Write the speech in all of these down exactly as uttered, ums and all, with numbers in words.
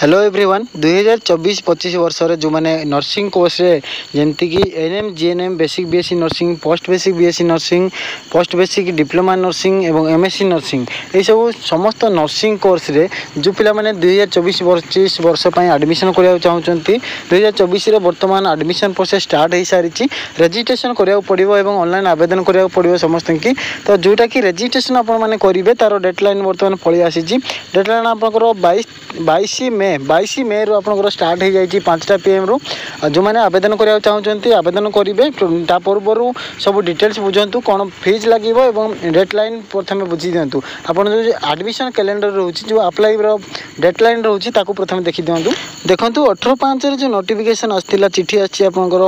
hello everyone ଦୁଇହଜାର ଚବିଶ ପଚିଶ ବର୍ଷରେ ଯେଉଁମାନେ ନର୍ସିଂ କୋର୍ସରେ ଯେମିତିକି N M G N M basic B S C nursing post basic B S C nursing post basic diploma nursing ଏବଂ M S C nursing ଏଇସବୁ ସମସ୍ତ ନର୍ସିଂ କୋର୍ସରେ ଯେଉଁ ପିଲାମାନେ ଦୁଇହଜାର ଚବିଶ ପଚିଶ ବର୍ଷ ପାଇଁ ଆଡ଼ମିସନ୍ କରିବାକୁ ଚାହୁଁଛନ୍ତି ଦୁଇହଜାର ଚବିଶରେ ବର୍ତ୍ତମାନ ଆଡ଼ମିସନ୍ ପ୍ରୋସେସ୍ ଷ୍ଟାର୍ଟ ହୋଇସାରିଛି ରେଜିଷ୍ଟ୍ରେସନ୍ କରିବାକୁ ପଡ଼ିବ ଏବଂ ଅନଲାଇନ୍ ଆବେଦନ କରିବାକୁ ପଡ଼ିବ ସମସ୍ତଙ୍କୁ ତ ଯେଉଁଟାକି ରେଜିଷ୍ଟ୍ରେସନ୍ ଆପଣମାନେ କରିବେ ତା'ର ଡେଡ଼ଲାଇନ୍ ବର୍ତ୍ତମାନ ପଳେଇ ଆସିଛି ଡେଡ଼ଲାଇନ୍ ଆପଣଙ୍କର ବାଇଶ ବାଇଶ ମେ ବାଇଶ ମେରୁ ଆପଣଙ୍କର ଷ୍ଟାର୍ଟ ହୋଇଯାଇଛି ପାଞ୍ଚଟା ପି ଏମ୍ରୁ ଯେଉଁମାନେ ଆବେଦନ କରିବାକୁ ଚାହୁଁଛନ୍ତି ଆବେଦନ କରିବେ ତା ପୂର୍ବରୁ ସବୁ ଡିଟେଲ୍ସ ବୁଝନ୍ତୁ କ'ଣ ଫିଜ୍ ଲାଗିବ ଏବଂ ଡେଡ଼ଲାଇନ୍ ପ୍ରଥମେ ବୁଝି ଦିଅନ୍ତୁ ଆପଣ ଯେଉଁ ଆଡ଼ମିସନ୍ କ୍ୟାଲେଣ୍ଡର ରହୁଛି ଯେଉଁ ଆପ୍ଲାଇର ଡେଡ଼ଲାଇନ୍ ରହୁଛି ତାକୁ ପ୍ରଥମେ ଦେଖିଦିଅନ୍ତୁ ଦେଖନ୍ତୁ ଅଠର ପାଞ୍ଚରେ ଯେଉଁ ନୋଟିଫିକେସନ୍ ଆସିଥିଲା ଚିଠି ଆସିଛି ଆପଣଙ୍କର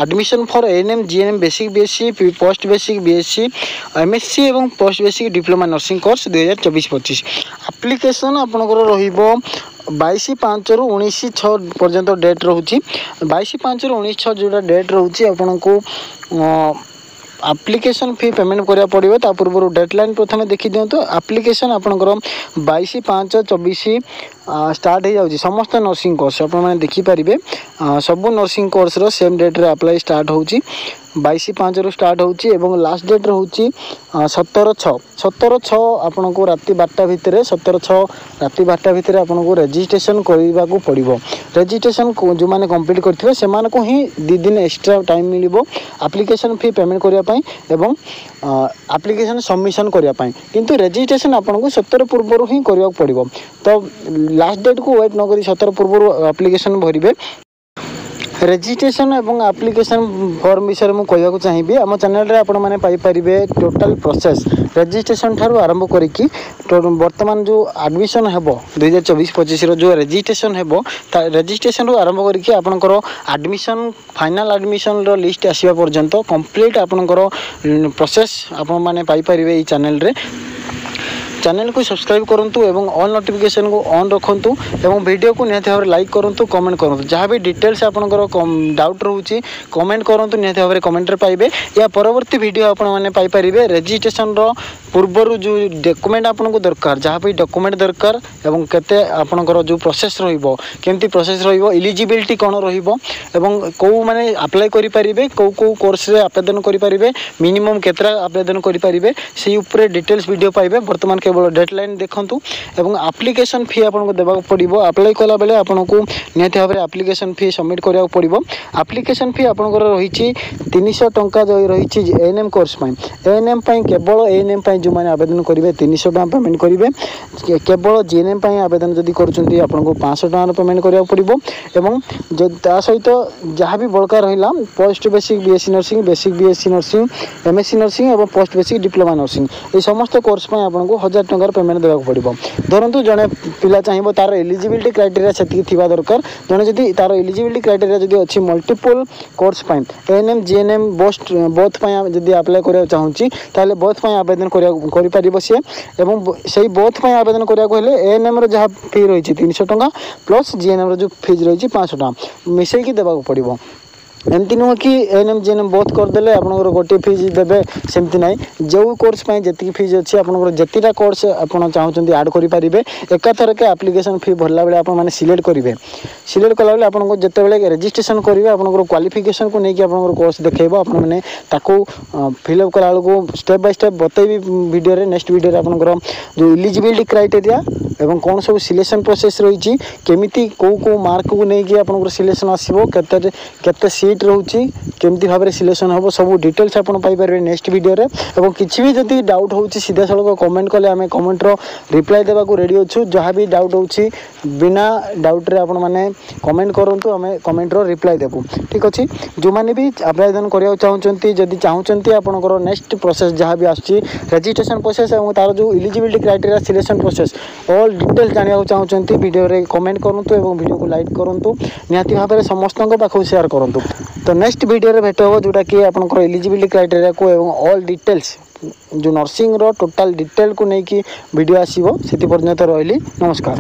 admission for N M G N M basic B S C post basic B S C M S C ଏବଂ post basic diploma nursing course ଦୁଇହଜାର ଚବିଶ ପଚିଶ ଆପ୍ଲିକେସନ୍ ଆପଣଙ୍କର ରହିବ ବାଇଶ ପାଞ୍ଚରୁ ଉଣେଇଶ ଛଅ ପର୍ଯ୍ୟନ୍ତ ଡେଟ୍ ରହୁଛି ବାଇଶ ପାଞ୍ଚରୁ ଉଣେଇଶ ଛଅ ଯେଉଁଟା ଡେଟ୍ ରହୁଛି ଆପଣଙ୍କୁ ଆପ୍ଲିକେସନ୍ ଫି ପେମେଣ୍ଟ କରିବାକୁ ପଡ଼ିବ ତା ପୂର୍ବରୁ ଡେଡ଼ଲାଇନ୍ ପ୍ରଥମେ ଦେଖିଦିଅନ୍ତୁ ଆପ୍ଲିକେସନ୍ ଆପଣଙ୍କର ବାଇଶ ପାଞ୍ଚ ଚବିଶ ଷ୍ଟାର୍ଟ ହେଇଯାଉଛି ସମସ୍ତ ନର୍ସିଂ କୋର୍ସ ଆପଣମାନେ ଦେଖିପାରିବେ ସବୁ ନର୍ସିଂ କୋର୍ସର ସେମ୍ ଡେଟ୍ରେ ଆପ୍ଲାଏ ଷ୍ଟାର୍ଟ ହେଉଛି ବାଇଶ ପାଞ୍ଚରୁ ଷ୍ଟାର୍ଟ ହେଉଛି ଏବଂ ଲାଷ୍ଟ ଡେଟ୍ ରହୁଛି ସତର ଛଅ ସତର ଛଅ ଆପଣଙ୍କୁ ରାତି ବାରଟା ଭିତରେ ସତର ଛଅ ରାତି ବାରଟା ଭିତରେ ଆପଣଙ୍କୁ ରେଜିଷ୍ଟ୍ରେସନ୍ କରିବାକୁ ପଡ଼ିବ ରେଜିଷ୍ଟ୍ରେସନ୍ ଯେଉଁମାନେ କମ୍ପ୍ଲିଟ୍ କରିଥିବେ ସେମାନଙ୍କୁ ହିଁ ଦୁଇ ଦିନ ଏକ୍ସଟ୍ରା ଟାଇମ୍ ମିଳିବ ଆପ୍ଲିକେସନ୍ ଫି ପେମେଣ୍ଟ କରିବା ପାଇଁ ଏବଂ ଆପ୍ଲିକେସନ୍ ସବମିସନ୍ କରିବା ପାଇଁ କିନ୍ତୁ ରେଜିଷ୍ଟ୍ରେସନ୍ ଆପଣଙ୍କୁ ସତର ପୂର୍ବରୁ ହିଁ କରିବାକୁ ପଡ଼ିବ ତ ଲାଷ୍ଟ ଡେଟ୍କୁ ୱେଟ୍ ନ କରି ସତର ପୂର୍ବରୁ ଆପ୍ଲିକେସନ୍ ଭରିବେ ରେଜିଷ୍ଟ୍ରେସନ୍ ଏବଂ ଆପ୍ଲିକେସନ୍ ଫର୍ମ ବିଷୟରେ ମୁଁ କହିବାକୁ ଚାହିଁବି ଆମ ଚ୍ୟାନେଲରେ ଆପଣମାନେ ପାଇପାରିବେ ଟୋଟାଲ୍ ପ୍ରୋସେସ୍ ରେଜିଷ୍ଟ୍ରେସନ୍ ଠାରୁ ଆରମ୍ଭ କରିକି ବର୍ତ୍ତମାନ ଯେଉଁ ଆଡ଼ମିସନ୍ ହେବ ଦୁଇହଜାର ଚବିଶ ପଚିଶର ଯେଉଁ ରେଜିଷ୍ଟ୍ରେସନ୍ ହେବ ତା ରେଜିଷ୍ଟ୍ରେସନ୍ରୁ ଆରମ୍ଭ କରିକି ଆପଣଙ୍କର ଆଡ଼ମିସନ୍ ଫାଇନାଲ୍ ଆଡ଼ମିସନ୍ର ଲିଷ୍ଟ ଆସିବା ପର୍ଯ୍ୟନ୍ତ କମ୍ପ୍ଲିଟ୍ ଆପଣଙ୍କର ପ୍ରୋସେସ୍ ଆପଣମାନେ ପାଇପାରିବେ ଏଇ ଚ୍ୟାନେଲରେ ଚ୍ୟାନେଲକୁ ସବସ୍କ୍ରାଇବ୍ କରନ୍ତୁ ଏବଂ ଅଲ୍ ନୋଟିଫିକେସନ୍କୁ ଅନ୍ ରଖନ୍ତୁ ଏବଂ ଭିଡ଼ିଓକୁ ନିହାତି ଭାବରେ ଲାଇକ୍ କରନ୍ତୁ କମେଣ୍ଟ କରନ୍ତୁ ଯାହା ବି ଡିଟେଲ୍ସ ଆପଣଙ୍କର ଡାଉଟ୍ ରହୁଛି କମେଣ୍ଟ କରନ୍ତୁ ନିହାତି ଭାବରେ କମେଣ୍ଟରେ ପାଇବେ ୟା ପରବର୍ତ୍ତୀ ଭିଡ଼ିଓ ଆପଣମାନେ ପାଇପାରିବେ ରେଜିଷ୍ଟ୍ରେସନ୍ର ପୂର୍ବରୁ ଯେଉଁ ଡକ୍ୟୁମେଣ୍ଟ ଆପଣଙ୍କୁ ଦରକାର ଯାହା ବି ଡକ୍ୟୁମେଣ୍ଟ ଦରକାର ଏବଂ କେତେ ଆପଣଙ୍କର ଯେଉଁ ପ୍ରୋସେସ୍ ରହିବ କେମିତି ପ୍ରୋସେସ୍ ରହିବ ଇଲିଜିବିଲିଟି କ'ଣ ରହିବ ଏବଂ କେଉଁମାନେ ଆପ୍ଲାଏ କରିପାରିବେ କେଉଁ କେଉଁ କୋର୍ସରେ ଆବେଦନ କରିପାରିବେ ମିନିମମ୍ କେତେଟା ଆବେଦନ କରିପାରିବେ ସେଇ ଉପରେ ଡିଟେଲ୍ସ ଭିଡ଼ିଓ ପାଇବେ ବର୍ତ୍ତମାନ କେବଳ ଡେଡ଼ଲାଇନ୍ ଦେଖନ୍ତୁ ଏବଂ ଆପ୍ଲିକେସନ୍ ଫି ଆପଣଙ୍କୁ ଦେବାକୁ ପଡ଼ିବ ଆପ୍ଲାଏ କଲାବେଳେ ଆପଣଙ୍କୁ ନିହାତି ଭାବରେ ଆପ୍ଲିକେସନ୍ ଫି ସବମିଟ୍ କରିବାକୁ ପଡ଼ିବ ଆପ୍ଲିକେସନ୍ ଫି ଆପଣଙ୍କର ରହିଛି ତିନିଶହ ଟଙ୍କା ଯେଉଁ ରହିଛି ଏନ୍ ଏମ୍ କୋର୍ସ ପାଇଁ ଏନ୍ ଏମ୍ ପାଇଁ କେବଳ ଏନ୍ ଏମ୍ ପାଇଁ ଯେଉଁମାନେ ଆବେଦନ କରିବେ ତିନିଶହ ଟଙ୍କା ପେମେଣ୍ଟ କରିବେ କେବଳ ଜି ଏନ୍ ଏମ୍ ପାଇଁ ଆବେଦନ ଯଦି କରୁଛନ୍ତି ଆପଣଙ୍କୁ ପାଞ୍ଚଶହ ଟଙ୍କାର ପେମେଣ୍ଟ କରିବାକୁ ପଡ଼ିବ ଏବଂ ତା ସହିତ ଯାହା ବି ବଳକା ରହିଲା post basic B S C nursing basic B S C nursing M S C nursing ଏବଂ ପୋଷ୍ଟ ବେସିକ୍ ଡିପ୍ଲୋମା ନର୍ସିଂ ଏହି ସମସ୍ତ କୋର୍ସ ପାଇଁ ଆପଣଙ୍କୁ ହଜାର ଟଙ୍କାର ପେମେଣ୍ଟ ଦେବାକୁ ପଡ଼ିବ ଧରନ୍ତୁ ଜଣେ ପିଲା ଚାହିଁବ ତା'ର ଏଲିଜିବିଲିଟି କ୍ରାଇଟେରିଆ ସେତିକି ଥିବା ଦରକାର ଜଣେ ଯଦି ତା'ର ଏଲିଜିବିଲିଟି କ୍ରାଇଟେରିଆ ଯଦି ଅଛି ମଲ୍ଟିପୁଲ୍ କୋର୍ସ ପାଇଁ N M G N M both both ପାଇଁ ଯଦି ଆପ୍ଲାଏ କରିବାକୁ ଚାହୁଁଛି ତାହେଲେ ବୋଥ୍ ପାଇଁ ଆବେଦନ କରିବାକୁ କରିପାରିବ ସିଏ ଏବଂ ସେଇ ବୋଥ୍ ପାଇଁ ଆବେଦନ କରିବାକୁ ହେଲେ ଏନ୍ ଏମ୍ର ଯାହା ଫି ରହିଛି ତିନିଶହ ଟଙ୍କା ପ୍ଲସ୍ ଜି ଏନ୍ ଏମ୍ର ଯେଉଁ ଫିଜ୍ ରହିଛି ପାଞ୍ଚଶହ ଟଙ୍କା ମିଶାଇକି ଦେବାକୁ ପଡ଼ିବ ଏମିତି ନୁହଁ କି N M G N M both କରିଦେଲେ ଆପଣଙ୍କର ଗୋଟିଏ ଫିଜ୍ ଦେବେ ସେମିତି ନାହିଁ ଯେଉଁ କୋର୍ସ ପାଇଁ ଯେତିକି ଫିଜ୍ ଅଛି ଆପଣଙ୍କର ଯେତିଟା କୋର୍ସ ଆପଣ ଚାହୁଁଛନ୍ତି ଆଡ଼୍ କରିପାରିବେ ଏକାଥରକେ ଆପ୍ଲିକେସନ୍ ଫି ଭରିଲା ବେଳେ ଆପଣମାନେ ସିଲେକ୍ଟ କରିବେ ସିଲେକ୍ଟ କଲାବେଳେ ଆପଣଙ୍କୁ ଯେତେବେଳେ ରେଜିଷ୍ଟ୍ରେସନ୍ କରିବେ ଆପଣଙ୍କର କ୍ୱାଲିଫିକେସନ୍କୁ ନେଇକି ଆପଣଙ୍କର କୋର୍ସ ଦେଖେଇବ ଆପଣମାନେ ତାକୁ ଫିଲ୍ଅପ୍ କଲାବେଳକୁ ଷ୍ଟେପ୍ ବାଇ ଷ୍ଟେପ୍ ବତେଇବି ଭିଡ଼ିଓରେ ନେକ୍ସଟ ଭିଡ଼ିଓରେ ଆପଣଙ୍କର ଯେଉଁ ଇଲିଜିବିଲିଟି କ୍ରାଇଟେରିଆ ଏବଂ କ'ଣ ସବୁ ସିଲେକ୍ସନ୍ ପ୍ରୋସେସ୍ ରହିଛି କେମିତି କେଉଁ କେଉଁ ମାର୍କକୁ ନେଇକି ଆପଣଙ୍କର ସିଲେକ୍ସନ୍ ଆସିବ କେତେ କେତେ ସିଟ୍ ରହୁଛି କେମିତି ଭାବରେ ସିଲେକ୍ସନ୍ ହେବ ସବୁ ଡିଟେଲ୍ସ ଆପଣ ପାଇପାରିବେ ନେକ୍ସଟ ଭିଡ଼ିଓରେ ଏବଂ କିଛି ବି ଯଦି ଡାଉଟ୍ ହେଉଛି ସିଧାସଳଖ କମେଣ୍ଟ କଲେ ଆମେ କମେଣ୍ଟର ରିପ୍ଲାଏ ଦେବାକୁ ରେଡ଼ି ଅଛୁ ଯାହା ବି ଡାଉଟ୍ ହେଉଛି ବିନା ଡାଉଟ୍ରେ ଆପଣମାନେ କମେଣ୍ଟ କରନ୍ତୁ ଆମେ କମେଣ୍ଟର ରିପ୍ଲାଏ ଦେବୁ ଠିକ୍ ଅଛି ଯେଉଁମାନେ ବି ଆବେଦନ କରିବାକୁ ଚାହୁଁଛନ୍ତି ଯଦି ଚାହୁଁଛନ୍ତି ଆପଣଙ୍କର ନେକ୍ସଟ ପ୍ରୋସେସ୍ ଯାହା ବି ଆସୁଛି ରେଜିଷ୍ଟ୍ରେସନ୍ ପ୍ରୋସେସ୍ ଏବଂ ତା'ର ଯେଉଁ eligibility criteria selection process all details ଜାଣିବାକୁ ଚାହୁଁଛନ୍ତି ଭିଡ଼ିଓରେ କମେଣ୍ଟ କରନ୍ତୁ ଏବଂ ଭିଡ଼ିଓକୁ ଲାଇକ୍ କରନ୍ତୁ ନିହାତି ଭାବରେ ସମସ୍ତଙ୍କ ପାଖକୁ ସେୟାର କରନ୍ତୁ ତ ନେକ୍ସଟ ଭିଡ଼ିଓରେ ଭେଟ ହେବ ଯେଉଁଟାକି ଆପଣଙ୍କର ଏଲିଜିବିଲିଟି କ୍ରାଇଟେରିଆକୁ ଏବଂ ଅଲ୍ ଡିଟେଲ୍ସ ଯେଉଁ ନର୍ସିଂର ଟୋଟାଲ୍ ଡିଟେଲ୍କୁ ନେଇକି ଭିଡ଼ିଓ ଆସିବ ସେଥି ପର୍ଯ୍ୟନ୍ତ ରହିଲି ନମସ୍କାର